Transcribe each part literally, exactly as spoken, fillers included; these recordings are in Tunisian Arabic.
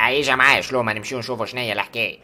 ايجا معايا شلومه نمشيو نشوفوا شنيا الحكاية.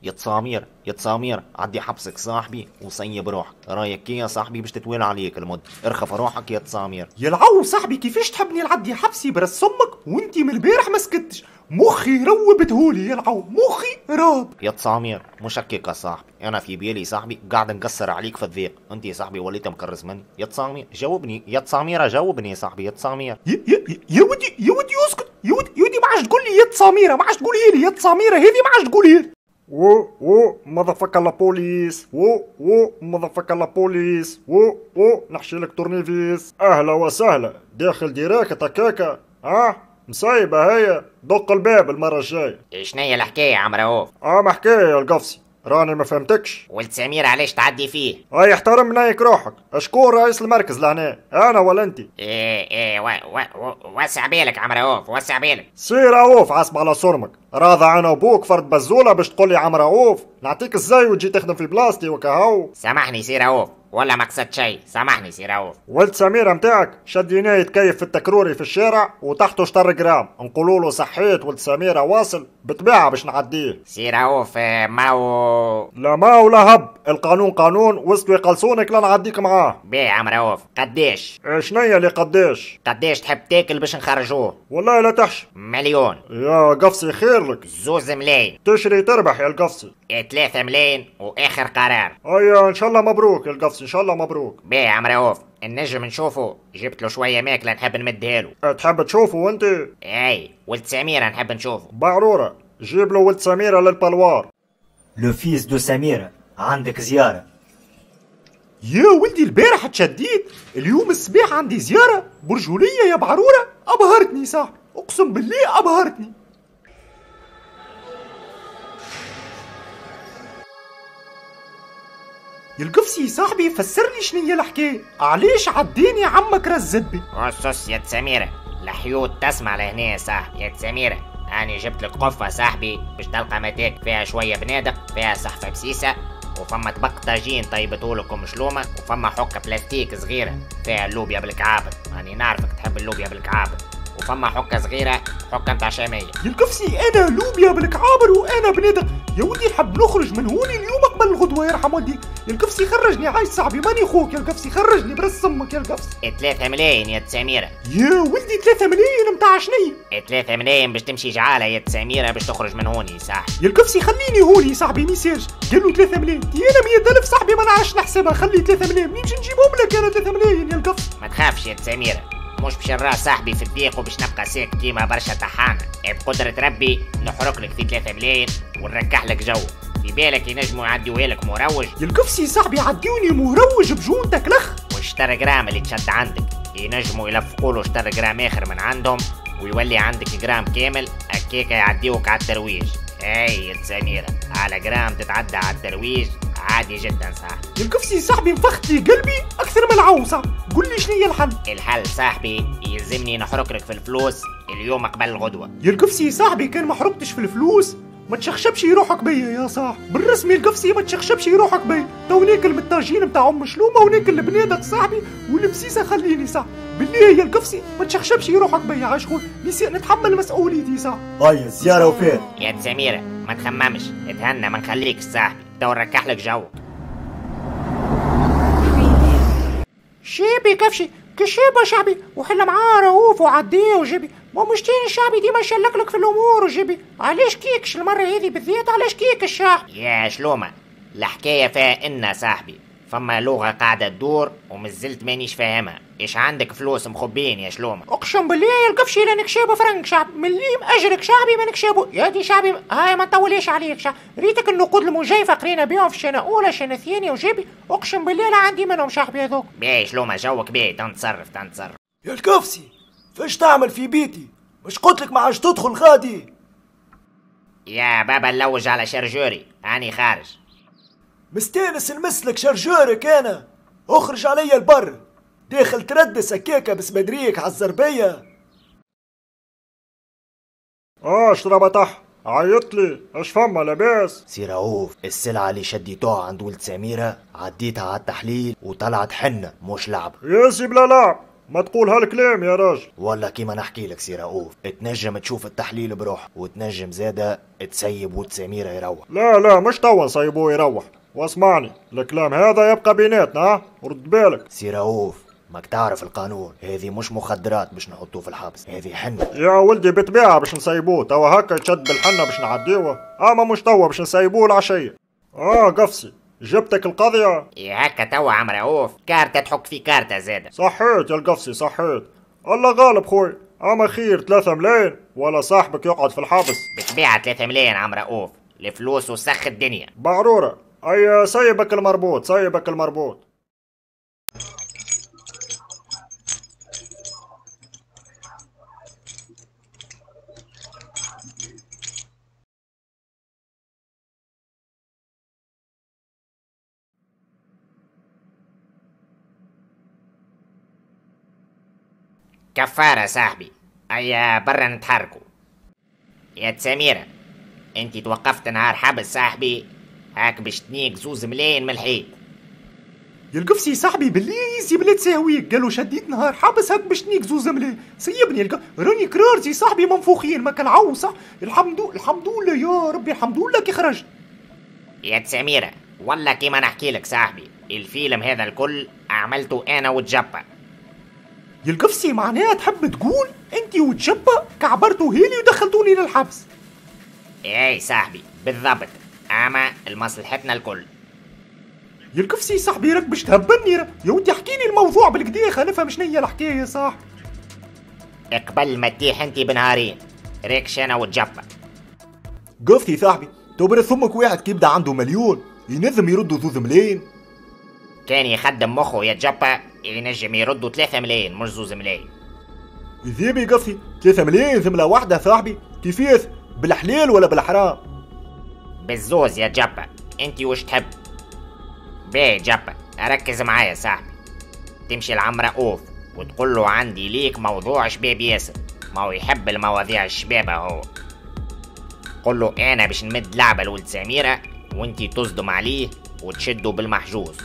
يا تسامير يا تسامير عدي حبسك صاحبي وصيب روحك، رايك يا صاحبي باش تتوالى عليك المد، ارخف روحك يا تسامير. يا العو صاحبي كيفاش تحبني نعدي حبسي برس امك وانتي من البارح ما سكتش، مخي روبتهولي يا العو، مخي راب. يا تسامير مش هكاك يا صاحبي، انا في بالي صاحبي قاعد نقصر عليك في الضيق، انت يا صاحبي وليت مكرز مني. يا تسامير جاوبني، يا تساميره جاوبني يا صاحبي، يا تسامير. يا يا يا ودي يا ودي اسكت يا ودي يا ودي، ما عادش تقول لي يا تساميره، ما عادش تقولي لي يا تساميره هذه، ما عادش تقولي لي. و و motherfucker la police، و و motherfucker la police، و و نحشي لك تورنيفيس. اهلا وسهلا، داخل direct هكاكا اه مصايبه هي، دق الباب المرة الجاية. شنيا الحكاية يا عم رؤوف؟ اه ما حكاية يا القفصي، راني ما فهمتكش. ولد سمير علاش تعدي فيه؟ اي احترم نايك روحك، اشكون رئيس المركز لهنا؟ انا ولا انت؟ ايه ايه و و وسع بالك عم رؤوف، وسع بالك. سي رؤوف عصب على صرمك، راضع انا وبوك فرد بزوله باش تقول لي عم رؤوف، نعطيك ازاي وتجي تخدم في بلاصتي وكهو. سامحني سي رؤوف، ولا ما قصدت شيء، سامحني سي رؤوف. ولد سميرة متاعك شديناه يتكيف في التكروري في الشارع وتحته شطر جرام، نقولوا له صحيت ولد سميرة واصل بطبيعة باش نعديه. سي رؤوف ماو لا ماو لا هب، القانون قانون وسطو يقلصونك لا نعديك معاه. باهي عم رؤوف، قداش؟ شنيا اللي قداش؟ قداش تحب تاكل باش نخرجوه؟ والله لا تحشم. مليون. يا قفصي خير لك. زوز ملايين. تشري تربح يا القفصي. ثلاثة ملايين واخر قرار. ايا ان شاء الله مبروك يا القفصي، ان شاء الله مبروك. باهي عم رؤوف، النجم نشوفه، جبت له شوية ماكله نحب نمدها له. تحب تشوفه انت؟ اي ولد سميرة نحب نشوفه. بعروره جيب له ولد سميرة لل parloir. le fils de سميرة عندك زيارة. يا ولدي البارح تشديت، اليوم الصباح عندي زيارة برجولية يا بعروره، ابهرتني صاحبي، اقسم بالله ابهرتني. يا القفصي صاحبي فسر لي شنيا الحكاية، علاش عديني عمك رزبي؟ قصص يا سميرة، الحيوط تسمع لهنا يا صاحبي. يا سميرة أنا جبت لك قفة صاحبي باش تلقى متاك فيها شوية بنادق، فيها صحفه بسيسه، وفما طبق طاجين طيبتهولكم شلومه، وفما حكه بلاستيك صغيرة فيها اللوبيا بالكعابر، أنا نعرفك تحب اللوبيا بالكعابر، وفما حكه صغيرة حكه نتاع شامية. يا القفصي انا لوبيا بالكعابر وانا بنادق، يا ودي نحب نخرج من هوني اليوم قبل الغدوه يرحم والديك. يا القفصي خرجني عايش صاحبي، ماني خوك يا القفصي، خرجني برس امك يا القفصي. ثلاثة ملايين يا سميرة. يا ولدي ثلاثة ملايين نتاع شنيا؟ ثلاثة ملايين باش تمشي جعالة يا سميرة باش تخرج من هوني صاحبي. يا القفصي خليني هوني صاحبي ميساج، قال له ثلاثة ملايين، تي انا مية ألف صاحبي ما نعرفش نحسبها، خلي ثلاثة ملايين منين باش نجيبهم لك انا ثلاثة ملايين يا القفصي؟ ما تخافش يا سميرة، مش باش نرى صاحبي في الضيق وباش نبقى ساكت كيما برشا طحانه، بقدرة ربي نحرق لك في ثلاثة ملايين ونركح لك جو، في بالك ينجموا يعديوها لك مروج. يا القفصي صاحبي عديوني مروج بجونتك لخ، والشطر جرام اللي تشد عندك ينجموا يلفقوا له شطر جرام اخر من عندهم ويولي عندك جرام كامل، هكاكا يعديوك على الترويج. اي يا سميرة على جرام تتعدى على الترويج عادي جدا صاحبي. يا القفصي صاحبي نفخت لي قلبي اكثر من العوصه، قول لي شنو هي الحل؟ الحل صاحبي يلزمني نحرق لك في الفلوس اليوم قبل الغدوه. يا القفصي صاحبي كان ما حرقتش في الفلوس ما تشخشبش روحك بيا يا صاحبي، بالرسمي القفصي ما تشخشبش روحك بيا، تو ناكل من الطاجين نتاع ام شلومه وناكل البنادق صاحبي والبسيسه خليني صاحبي، بالله يا القفصي ما تشخشبش روحك بيا عايش خويا، نتحمل مسؤوليتي صاحبي. هيا الزيارة وفات. يا سميرة ما تخممش، اتهنى ما نخليكش صاحبي، تو نركح لك جو. شيبي كفشي كشيبه شعبي وحل معاه رؤوف وعديه وجيبي، ما مش تاني الشعبي ديما يشلك لك في الامور وجيبي، علاش كيكش المرة هذه بالذات علاش كيك الشعب؟ يا شلومه الحكاية فيها إن صاحبي فما لغة قاعدة تدور ومازلت مانيش فاهمها، ايش عندك فلوس مخبين يا شلومه؟ اقسم بالله يا القفشي لا نكشابه فرنك شعب، مليم اجرك شعبي ما نكشابه، يا دي شعبي هاي ما نطوليش عليك شعب، ريتك النقود المجيفه قرينا بيهم في السنة الاولى السنة الثانية وجيبي، اقسم بالله لا عندي منهم شعبي هذوك. باهي شلومه جوك باهي، تنتصرف تنتصرف. يا القفصي فاش تعمل في بيتي؟ مش قلتلك ما عادش تدخل غادي؟ يا بابا نلوج على chargeur ي، هاني خارج. مستانس نمسلك chargeur ك انا، اخرج عليا البر، داخل تردس هكاكا بسمدريك عالزربية. اه شربتح، عيط لي، اش فما لاباس؟ سي رؤوف، السلعة اللي شديتوها عند ولد سميرة عديتها على التحليل وطلعت حنة مش لعب. يا سي بلا لعب، ما تقول هالكلام يا راجل. والله كيما نحكي لك سي رؤوف، تنجم تشوف التحليل بروح، وتنجم زاده تسيب ولد سميرة يروح. لا لا مش توا نسيبوه يروح، واسمعني الكلام هذا يبقى بيناتنا، رد بالك. سي رؤوف ماك تعرف القانون، هذه مش مخدرات باش نحطوه في الحبس، هذه حنة. يا ولدي بطبيعة باش نسيبوه، توا هكا يتشد بالحنة باش نعديوه، اما مش توا باش نسيبوه العشية. اه قفصي جبتك القضية؟ يا هكا توا عم رؤوف، كارتة تحك في كارتة زادة. صحيت يا القفصي صحيت، الله غالب خوي، اما خير ثلاثة ملايين ولا صاحبك يقعد في الحبس. بطبيعة ثلاثة ملايين عم رؤوف، الفلوس وسخ الدنيا. بعرورة، اي سيبك المربوط سيبك المربوط. كفارة صاحبي، هيا برا نتحركوا. يا سميرة انت توقفت نهار حبس صاحبي، هاك باش تنيك زوز ملايين من الحيط. يا القفصي صاحبي باللي يزي بلا تساويك، قالوا شديت نهار حبس هاك باش تنيك زوز ملايين، سيبني الق... راني كرارتي صاحبي منفوخين ما كنعو صح. الحمد الحمد لله يا ربي، الحمد لله كي خرجت. يا سميرة والله كيما نحكي لك صاحبي، الفيلم هذا الكل عملته انا وتجبا. يا القفصي معناها تحب تقول انت وتجبا كعبرتوا هيلي ودخلتوني للحبس؟ اي صاحبي بالضبط، اما لمصلحتنا الكل. يا القفصي صاحبي راك باش تهبلني، يا ودي احكي لي الموضوع بالكدا خلينا نفهم شنو هي الحكاية صاحبي. قبل ما تطيح انت بنهارين ريكش انا وتجبا. قفصي صاحبي تو ثمك واحد كي يبدا عنده مليون ينظم يردوا زوز ملايين؟ كان يخدم مخه يا جبا ينجم يردوا ثلاثة ملايين مش زوز ملايين. يذيبي قفصي ثلاثة ملايين ثملة واحدة صاحبي، كيفاش؟ بالحلال ولا بالحرام؟ بالزوز يا جبا، انت وش تحب؟ باهي جبا ركز معايا صاحبي، تمشي لعم رؤوف وتقول له عندي ليك موضوع شباب ياسر، ما هو يحب المواضيع الشبابة هو. قل له انا باش نمد لعبة لولد سميرة وانت تصدم عليه وتشده بالمحجوز،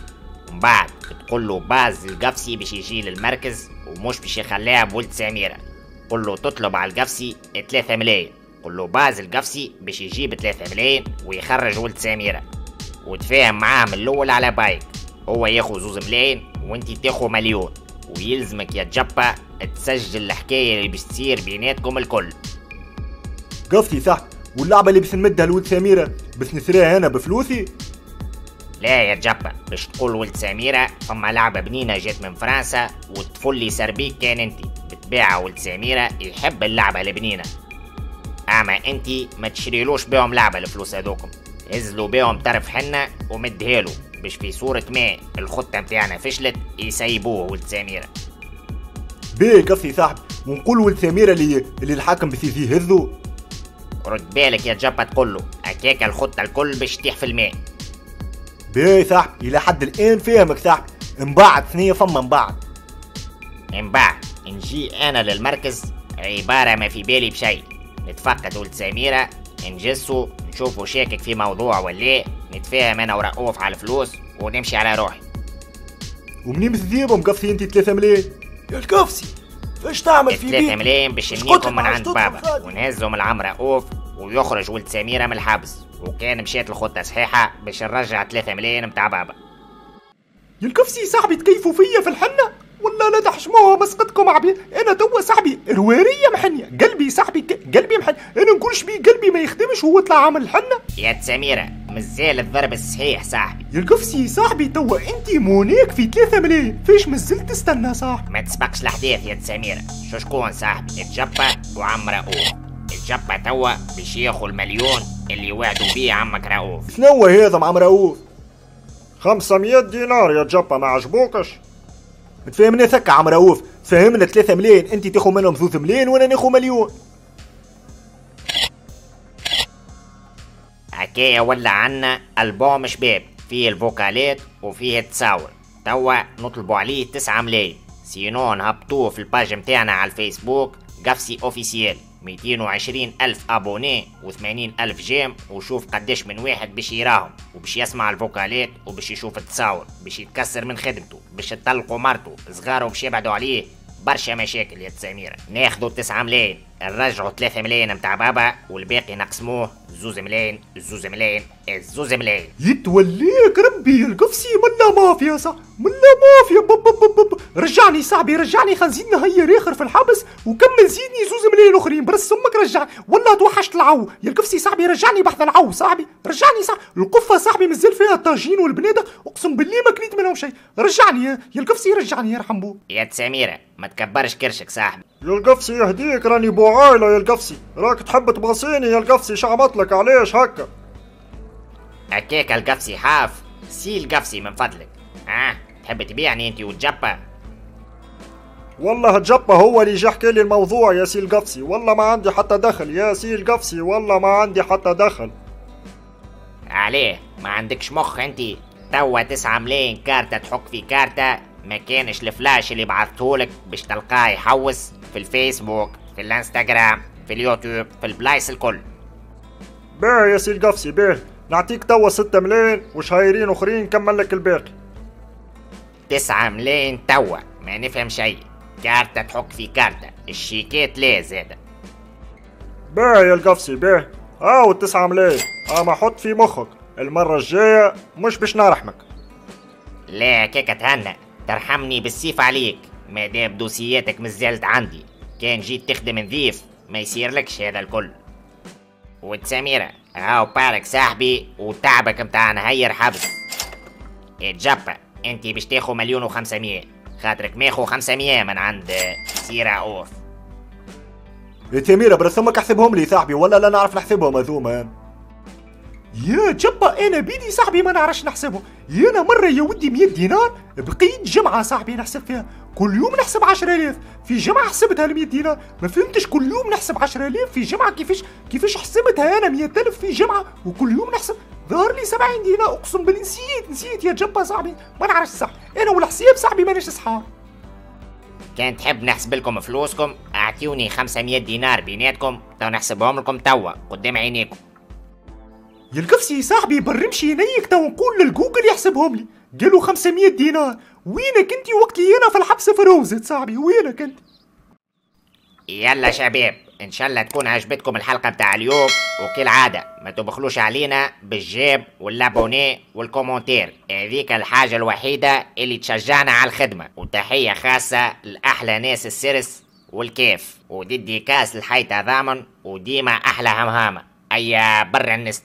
ومن بعد تقول له باز القفصي باش يجي للمركز ومش باش يخليها بولد سميرة. قل له تطلب على القفصي ثلاثة ملايين، قل له باز القفصي باش يجيب ثلاثة ملايين ويخرج ولد سميرة، وتفاهم معاه من الاول على بايك، هو ياخو زوز ملايين وانت تاخو مليون، ويلزمك يا جبا تسجل الحكاية اللي باش تصير بيناتكم الكل. قفصي صح، واللعبة اللي باش نمدها لولد سميرة باش نشريها انا بفلوسي؟ لا يا جبا، باش تقول ولد سميرة فما لعبة بنينة جات من فرنسا والطفل اللي سربيك كان انت، بتبيعها ولد سميرة يحب اللعبة البنينة، اما انت ما تشريلوش بيهم لعبة الفلوس هذوكم، هزلوا بيهم طرف حنة ومدهالو باش في صورة ما الخطة متاعنا فشلت يسيبوه ولد سميرة. باهي قفصي صاحبي، ونقول ولد سميرة اللي اللي الحاكم باش يجي يهزو؟ رد بالك يا جبا تقوله، هكاك الخطة الكل باش تطيح في الماء. باهي صاحبي الى حد الان فاهمك صاحبي، من بعد ثنية فما من بعد. من بعد نجي انا للمركز عبارة ما في بالي بشيء، نتفقد ولد سميرة، نجسو نشوفو شاكك في موضوع ولا، نتفاهم انا ورؤوف على الفلوس ونمشي على روحي. ومنين باش تجيبهم قفصي انت ثلاثة ملايين؟ يا القفصي فاش تعمل في بيتك؟ ثلاثة ملايين باش نجيكم من عند بابا ونهزهم العم رؤوف ويخرج ولد سميرة من الحبس، وكان مشات الخطة صحيحة باش نرجع ثلاثة ملايين متاع بابا. يا القفصي صاحبي تكيفوا فيا في الحنة ولا لا تحشموها مسقطكم عبيد. انا توا صاحبي روارية محنية، قلبي صاحبي قلبي محنية، انا نقولش بيه قلبي ما يخدمش وهو طلع عامل الحنة. يا سميرة مازال الضرب الصحيح صاحبي. يا القفصي صاحبي توا انت مونيك في ثلاثة ملايين، فاش مازلت تستنى صاحبي؟ ما تسبقش الاحداث يا سميرة، شو شكون صاحبي؟ الجبة وعم رؤوف. الجبة توا باش ياخو المليون اللي وعدوا بيه عمك رؤوف. شنو هذا مع عم رؤوف؟ خمسمية دينار يا جبة ما عجبوكش؟ تفهمني ثكة عم رؤوف، تفهمنا ثلاثة ملايين انت تاخو منهم ثلاثة ملايين وانا ناخو مليون. حكاية ولا عنا ألبوم شباب فيه الفوكالات وفيه التصاور، توا نطلبوا عليه تسعة ملايين، sinon نهبطوه في ال page متاعنا على الفيسبوك قفصي officiel، ميتين وعشرين ألف abonnés وثمانين ألف j'aime، وشوف قداش من واحد باش يراهم وباش يسمع الفوكالات وباش يشوف التصاور، باش يتكسر من خدمته، باش تطلقوا مرته، صغاره باش يبعدوا عليه، برشا مشاكل يا سميرة. ناخذوا تسعة ملايين نرجعوا ثلاثة ملايين متاع بابا والباقي نقسموه زوز ملايين زوز ملايين زوز ملايين. يتوليك ربي القفصي ملا مافيا صح، ملا مافيا. بب بب بب رجعني صاحبي رجعني، خلينا نزيد نهير اخر في الحبس وكمل زيدني زوز ملايين اخرين برس امك رجعني، والله توحشت العو يا القفصي صاحبي، رجعني بحث العو صاحبي، رجعني صاحبي. القفه صاحبي مازال فيها الطاجين والبنادق، اقسم بالله ما كليت منهم شيء، رجعني يا القفصي رجعني يرحم بو. يا سميرة ما تكبرش كرشك صاحبي. يا القفصي يهديك راني بو عايلة يا القفصي، راك تحب تبغصيني يا القفصي، شعمطلك علاش هكا؟ هكاك القفصي حاف سي القفصي من فضلك. اه تحب تبيعني انت وتجبا؟ والله تجبا هو اللي جا حكى لي الموضوع يا سي القفصي، والله ما عندي حتى دخل يا سي القفصي، والله ما عندي حتى دخل. عليه ما عندكش مخ انت؟ توا تسعة ملايين كارتة تحك في كارتة، ما كانش الفلاش اللي بعثتهولك باش تلقاه يحوس في الفيسبوك في الانستغرام في اليوتيوب في البلايص الكل. باهي يا سي القفصي باهي، نعطيك توا ستة ملايين وشهيرين اخرين نكمل لك الباقي. تسعة ملايين توا ما نفهم شيء، كارتة تحك في كارتة، الشيكات لا زادة. باهي يا القفصي باهي، هاو التسعة ملايين، اما حط في مخك المرة الجاية مش باش نرحمك. لا كيكة تهنى، ترحمني بالسيف عليك ما دام دوسياتك مازالت عندي، كان جيت تخدم نظيف ما يصيرلكش هذا الكل. وتسميرة هاو بارك صاحبي وتعبك متاع نهير حبس. اتجبا انتي باش تاخو مليون وخمسمية، خاطرك ماخو خمسمية من عند سيرة اوف. يا تميرة برا امك احسبهم لي صاحبي، ولا لا نعرف نحسبهم هذوما. يا جبا انا بيدي صاحبي ما نعرفش نحسبه، يا انا مرة يا ودي مية دينار بقيت جمعه صاحبي نحسب فيها، كل يوم نحسب عشرة آلاف في جمعه حسبتها ال مية دينار، ما فهمتش كل يوم نحسب عشرة آلاف في جمعه كيفاش كيفاش حسبتها انا مية ألف في جمعه وكل يوم نحسب، ظهر لي سبعين دينار اقسم بالله نسيت نسيت يا جبا صاحبي، ما نعرفش صح انا والحساب صاحبي مانيش صحاب. كان تحب نحسب لكم فلوسكم اعطيوني خمسمية دينار بيناتكم تو نحسبهم لكم توا قدام عينيكم. يا القفصي صاحبي برمشي عينيك تو نقول للجوجل يحسبهم لي، قالوا خمسمية دينار، وينك انت وقت اللي انا في الحبس في روزت صاحبي، وينك انت؟ يلا شباب ان شاء الله تكون عجبتكم الحلقة بتاع اليوم، وكالعادة ما تبخلوش علينا بال j'aime وال abonné وال commentaire، هذيك الحاجة الوحيدة اللي تشجعنا على الخدمة. وتحية خاصة لاحلى ناس السرس والكيف، و dédicace الحي تضامن، وديما احلى همهامه. ايا برا الناس.